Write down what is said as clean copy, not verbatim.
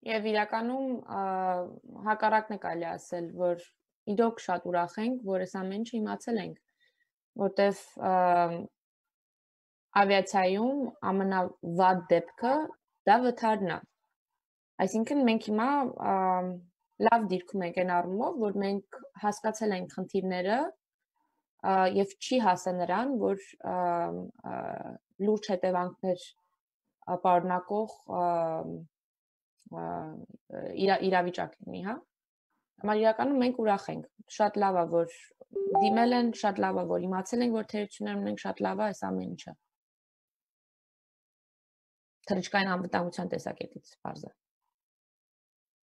Եվ իրականում հակառակն է կարելի ասել, որ իրոք շատ ուրախ ենք, որ այս ամեն ինչը իմացել ենք, որտեվ ավիացիայում ամենավատ դեպքը դա վթարն է։ Այսինքն մենք հիմա լավ դիրքում ենք այն առումով, որ մենք հասկացել ենք խնդիրները եւ չի հասա նրան, որ լուրջ հետևանքներ պարունակող իրավիճակ լինի, հա։ Համար իրականում մենք ուրախ ենք։ Շատ լավ է, որ դիմել են, շատ լավ է, որ իմացել ենք, որ թերություններ ունենք, շատ լավ է այս ամեն ինչը։ Թռիչքային անվտանգության տեսակետից բարձր։